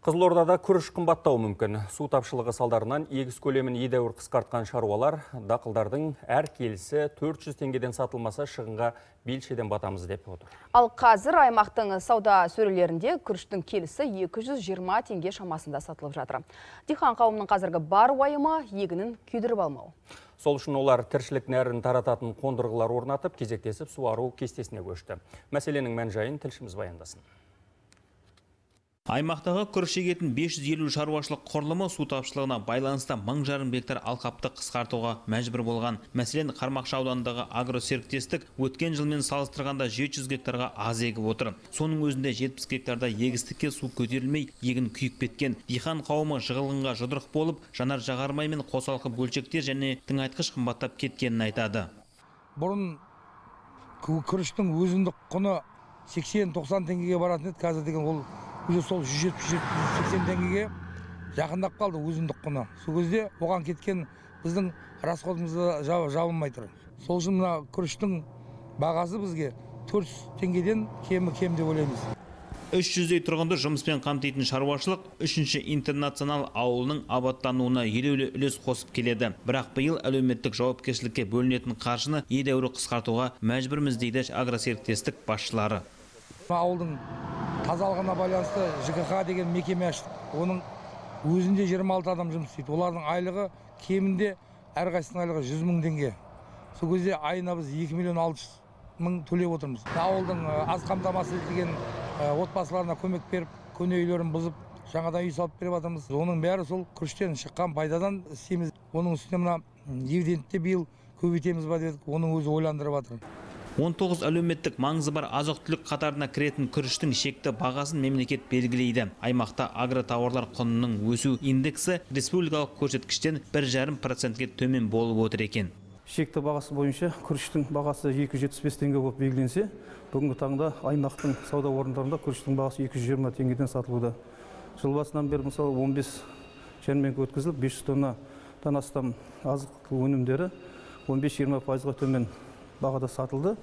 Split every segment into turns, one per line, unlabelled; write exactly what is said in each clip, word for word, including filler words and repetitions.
Қызылордада күріш қымбаттауы мүмкін. Су тапшылығы салдарынан егіс көлемін едәуір қысқартқан шаруалар дақылдардың әр келісі төрт жүз теңгеден сатылмаса шығынға белшеден батамыз деп отыр.
Ал қазір аймақтың сауда сөрелерінде күріштің келісі екі жүз жиырма теңге шамасында сатылып жатыр. Диқан қауымның қазіргі бар уайымы егінін күйдіріп алмау.
Сол үшін олар тіршілік нәрін тарататын қондырғылар орнатып, кезектесіп суару кестесіне көшті. Мәселенің мән-жайын тілшіміз баяндасын.
Аймақтағы күріш егетін бес жүз елу шаруашылық құрылымы су тапшылығына байланысты мың жарым гектар алқапты қысқартуға мәжбүр болған. Мәселен, Қармақшы ауданындағы агросеріктестік өткен жылмен салыстырғанда жеті жүз гектарға аз егіп отыр. Соның өзінде жетпіс гектарда егістікке су көтерілмей, егін күйіп кеткен. Диқан қауымы жығылғынға жұдырық болып, жанар жағармай мен қосалқы бөлшектер және тыңайтқыш қымбаттап кеткенін айтады.
Бұрын күріштің өзіндік құны сексен тоқсан теңгеге баратын еді, қазір деген ол уже сол жүз жетпіс сексен теңгеге жақындап қалды өзіндік құны. Сол кезде оған кеткен біздің расходымызды жабылмай тұр. Сол үшін мына күріштің бағасы бізге төрт жүз теңгеден кемі кем деп ойлаймыз.
үш жүздей тұрғынды жұмыспен қамтитын шаруашылық үшінші интернационал ауылының абаттануына елеулі үлес қосып келеді. Бірақ биыл әлеуметтік жауапкершілікке бөлінетін қаржыны едәуір қысқартуға мәжбүрміз дейді агросеріктестік басшылары.
Ауылдың тазалығына байланысты Ж К Х деген мекеме аштық. Оның өзінде жиырма алты адам жұмыс істейді. Олардың айлығы кемінде әрқайсысының айлығы жүз мың теңге. Сол кезде айына біз екі миллион алты жүз мың төлеп отырмыз. Ауылдың аз қамтамасыз етілген отбасыларына көмек беріп, көне үйлерін бұзып, жаңадан үй салып беріп жатырмыз. Оның бәрі сол күріштен шыққан пайдадан істейміз. Оның үстіне мына дивидендті биыл көбейтеміз ба деп, оның өзі ойландырып жатыр.
он тоғыз әлеуметтік маңызы бар азық-түлік қатарына кіретін күріштің шекті бағасын мемлекет белгілейді. Аймақта агротауарлар құнының өсу индексі республикалық көрсеткіштен бір жарым процентке төмен болып отыр екен.
Шекті бағасы бойынша күріштің бағасы екі жүз жетпіс бес теңге болып белгіленсе, бүгінгі таңда аймақтың сауда орындарында күріштің бағасы екі жүз жиырма теңгеден сатылуда. Жыл басынан бері мысалы он бес жәрмеңке өткізіліп, бес жүз тоннадан астам азық өнімдері он бес жиырма пайызға төмен бағада сатылды.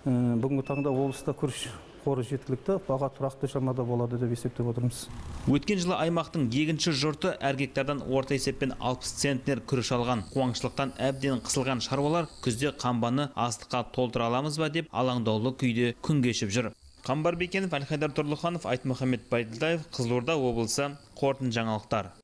Бүгінгі таңда облыста күріш қоры жеткілікті, баға тұрақты шамада болады деп есептеп отырмыз.
Өткен жылы аймақтың егінші жұрты әр гектардан орта есеппен алпыс центнер күріш алған. Қуаңшылықтан әбден қысылған шаруалар күзде қамбаны астыққа толтыра аламыз ба деп алаңдаулы күйде күн кешіп жүр. Қамбар Бекенов, Әлхайдар Тұрлыханов, Айтмұхамед Байділдаев, Қызылорда облысы, қорытынды жаңалықтар.